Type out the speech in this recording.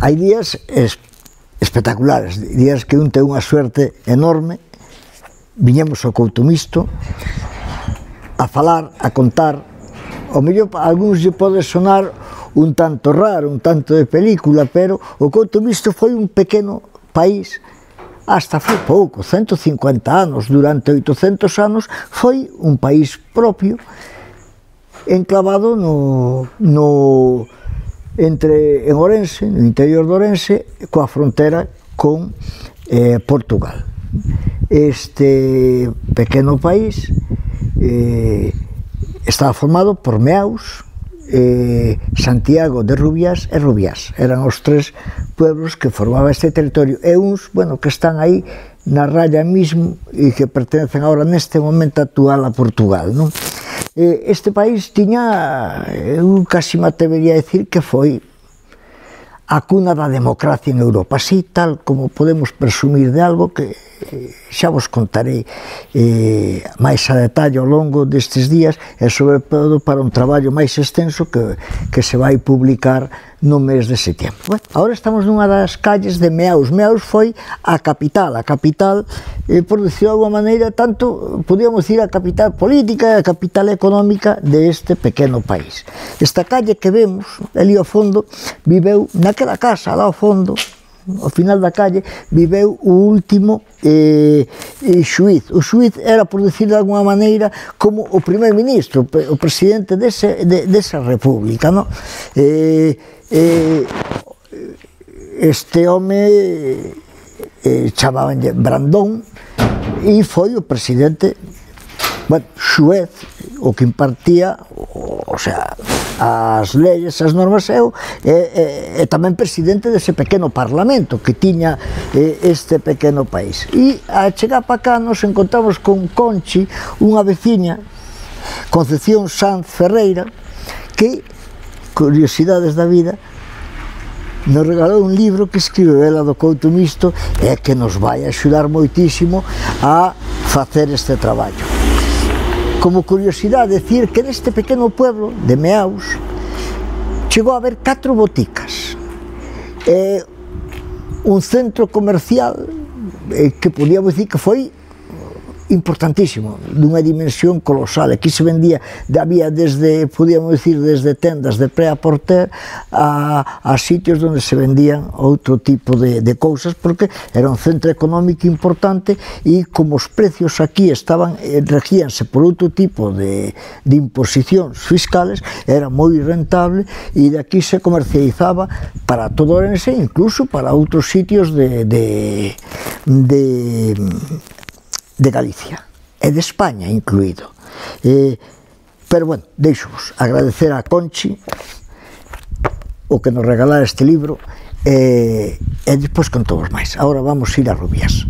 hai días espectaculares, días que un ten unha suerte enorme. Viñemos ao Couto Mixto a falar, a contar. Ao mellor a algúns lle pode sonar un tanto raro, un tanto de película, pero o Couto Mixto foi un pequeno país hasta foi pouco, 150 anos, durante 800 anos foi un país propio enclavado en Ourense, no interior de Ourense, coa frontera con Portugal. Este pequeno país estaba formado por Meaus, Santiago de Rubiás e Rubiás. Eran os tres pueblos que formaban este territorio, e uns, bueno, que están aí na raya mismo e que pertencen agora neste momento actual a Portugal, non? Este país tiña, eu casi me atrevería a decir que foi a cuna da democracia en Europa, así tal como podemos presumir de algo que xa vos contarei máis a detalle ao longo destes días, e sobre todo para un traballo máis extenso que se vai publicar no mes de setembro. Bueno, agora estamos nunha das calles de Meaus. Meaus foi a capital, por decirlo de alguma maneira, tanto, podíamos decir, a capital política e a capital económica deste pequeno país. Esta calle que vemos, ali ao fondo, viveu naquela casa, lá ao fondo, ao final da calle, viveu o último xuíz. O xuíz era, por decir de alguma maneira, como o primer ministro, o presidente desa república, non? Este home chamabanlle Brandón e foi o presidente, bueno, xuez, o que impartía, o sea, as leyes, as normas, e tamén presidente dese pequeno parlamento que tiña este pequeno país. E a chegar para cá nos encontramos con Conchi, unha veciña, Concepción Sanz Ferreira, que, curiosidades da vida, nos regalou un libro que escribeu ela do Couto Mixto e que nos vai axudar moitísimo a facer este traballo. Como curiosidade, decir que neste pequeno pueblo de Meaus chegou a haber 4 boticas, un centro comercial que podíamos dicir que foi importantísimo, dunha dimensión colosal. Aquí se vendía, había desde, podíamos dicir, desde tendas de pré-a-porter a sitios onde se vendían outro tipo de cousas, porque era un centro económico importante e como os precios aquí estaban, regíanse por outro tipo de imposicións fiscales, era moi rentable e de aquí se comercializaba para todo Ourense, incluso para outros sitios de Galicia e de España incluído. Pero, bueno, deixo-vos agradecer a Conchi o que nos regalara este libro e despois contovos máis. Agora vamos ir a Rubiás.